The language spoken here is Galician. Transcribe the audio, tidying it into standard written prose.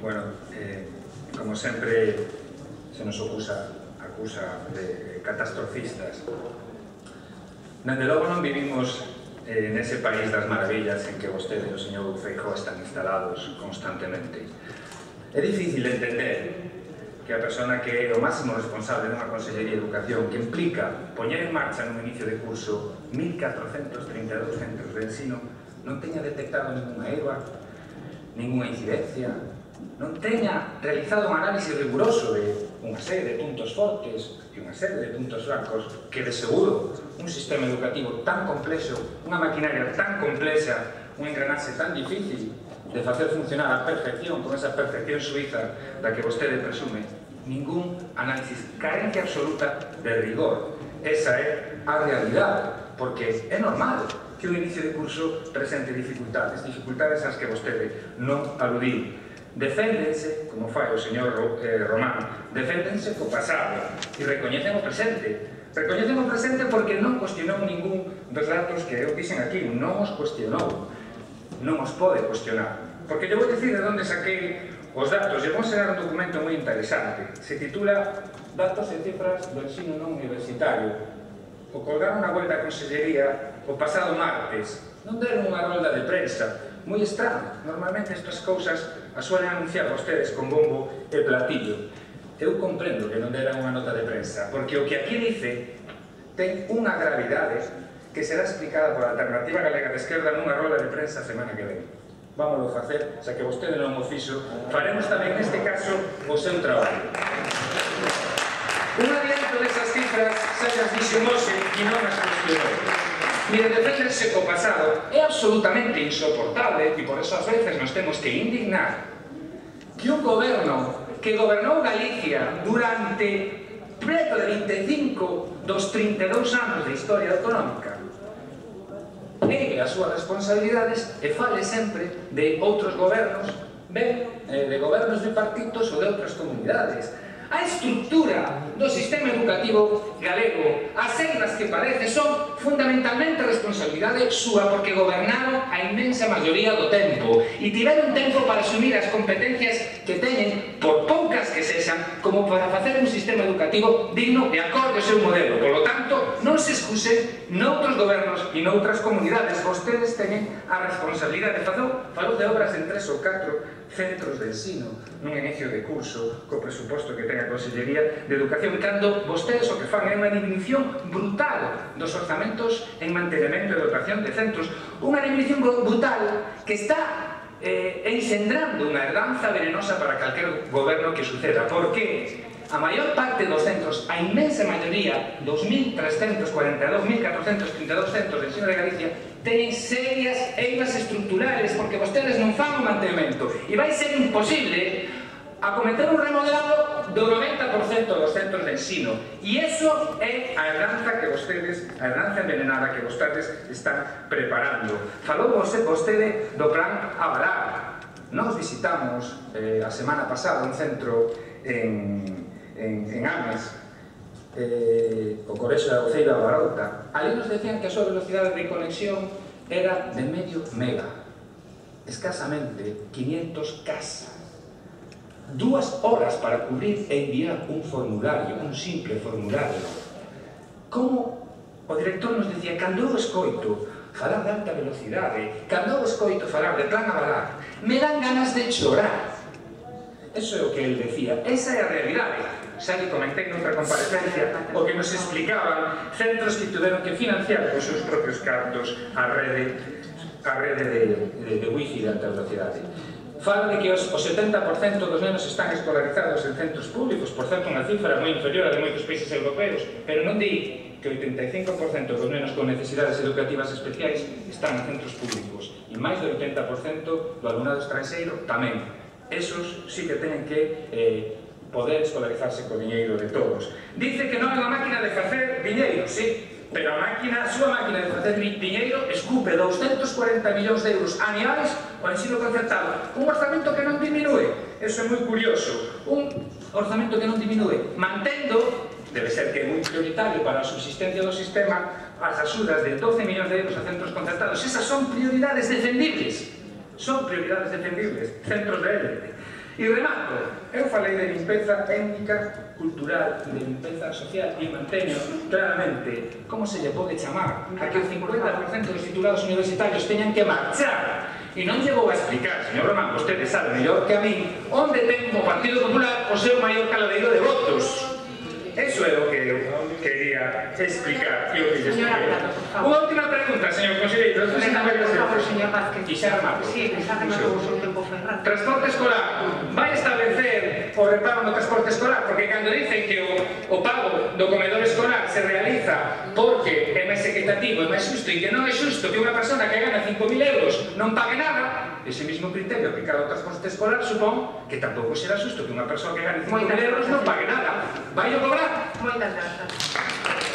Bueno, como sempre se nos acusa de catastrofistas. Dende logo non vivimos nese país das maravillas en que vostede e o señor Feijóo están instalados constantemente. É difícil entender que a persona que é o máximo responsable dunha Consellería de Educación, que implica poñer en marcha nun inicio de curso 1.432 centros de ensino, non teña detectado ninguna EVA, ninguna incidencia, non teña realizado un análisis riguroso de unha serie de puntos fortes e unha serie de puntos francos que, de seguro, un sistema educativo tan complexo, unha maquinaria tan complexa, un engranaxe tan difícil de facer funcionar a perfección, con esa perfección suiza da que vostede presume, ningún análisis, carencia absoluta de rigor. Esa é a realidade, porque é normal que un inicio de curso presente dificultades ás que vostede non aludiu. Deféndense, como fai o señor Román, deféndense co pasado e recoñecen o presente. Recoñecen o presente porque non cuestionou ningún dos datos que eu dixen aquí, non os cuestionou, non os pode cuestionar. Porque lle vou dicir de onde saquei os datos, lle vou enseñar un documento moi interesante, se titula Datos e cifras do ensino non universitario. O colgaron na web da Consellería o pasado martes, non deron unha rolda de prensa, moi estranho. Normalmente estas cousas as suelen anunciar vostedes con bombo e platillo. Eu comprendo que non deran unha nota de prensa, porque o que aquí dice ten unha gravidade que será explicada por a Alternativa Galega de Esquerda nunha rolda de prensa a semana que ven. Vámoslo facer, xa que vostede non o fixo, faremos tamén neste caso o seu traballo. Un adianto desas cifras xa as dixo Mose e non as cuestionou. Mire, defenderse co pasado é absolutamente insoportable e por eso ás veces nos temos que indignar que un goberno que gobernou Galicia durante preto de 25 dos 32 anos de historia autonómica negue as súas responsabilidades e fale sempre de outros gobernos, ben, de gobernos bipartitos ou de outras comunidades. A estructura do sistema educativo galego, as eiras que parece, son fundamentalmente responsabilidade súa porque gobernaron a inmensa maioría do tempo e tiveron tempo para asumir as competencias que teñen, por poucas que sexan, como para facer un sistema educativo digno e acorde ao seu modelo. Por lo tanto, non se excusen noutros gobernos e noutras comunidades. Vostedes teñen a responsabilidade. Falou de obras en 3 ou 4 centros de ensino nun inicio de curso co presuposto que ten a Consellería de Educación, cando vostedes o que fan é unha disminución brutal dos orzamentos en mantenimento e dotación de centros, unha disminución brutal que está enxendrando unha herdanza venenosa para calquer goberno que suceda, porque a maior parte dos centros, a inmensa maioría, 2.342, 1.432 centros de ensino de Galicia, teñen serias eiras estructurales porque vostedes non fan o mantemento e vai ser imposible acometer un remodelado do 90% dos centros de ensino e iso é a herdanza que vostedes, a herdanza envenenada que vostedes están preparando. Falou vostede do plan Avalar. Nós visitamos a semana pasada un centro en Ames, o Colexio da Uceira Barauta. Ali nos decían que a súa velocidade de conexión era de medio mega, escasamente 500 K. 2 horas para cubrir e enviar un formulario, un simple formulario. Como o director nos decía, cando eu escoito falar de alta velocidade, cando eu escoito falar de plan Avalar, me dan ganas de chorar. Eso é o que ele decía, esa é a realidade. Xa que comentei noutra comparecencia o que nos explicaban centros que tiveron que financiar os seus propios cartos a rede de wifi de alta velocidade. Fala de que os 70% dos nenos están escolarizados en centros públicos, por certo, unha cifra moi inferior a de moitos países europeos, pero non di que o 85% dos nenos con necesidades educativas especiais están en centros públicos e máis do 80% do alumnado estranxeiro tamén. Esos sí que teñen que poder escolarizarse co diñeiro de todos. Dice que non é unha máquina de facer diñeiro, sí, pero a súa máquina de facer diñeiro escupe 240 millóns de euros anuais ao ensino concertado. Un orzamento que non diminúe. Eso é moi curioso. Un orzamento que non diminúe. Mantendo, debe ser que é moi prioritario para a subsistencia do sistema, as axudas de 12 millóns de euros a centros concertados. Esas son prioridades defendibles. Son prioridades defendibles. Centros de élite. E remato, eu falei de limpeza étnica, cultural, de limpeza social e manteño claramente como se lle pode chamar a que o 50% dos titulados universitarios teñan que marchar. E non lle vou a explicar, señor Román, vostede sabe mellor que a mí, onde ten o Partido Popular o seu maior caladeiro de votos. Eso é o que eu quería explicar e o que lle expliquei. Unha última pregunta, señor conselleiro. Por favor, señor Vázquez. E xa remato. Sí, xa rematou o seu tempo ferrado. Transporte escolar. Vai establecer o repago no transporte escolar, porque cando dicen que o pago do comedor escolar se realiza porque é máis equitativo, é máis xusto, e que non é xusto que unha persona que gana 5.000 euros non pague nada, ese mismo criterio aplicado ao transporte escolar supón que tampouco será xusto que unha persoa que gane 5.000 euros non pague nada. Vai o cobrar? Moitas grazas.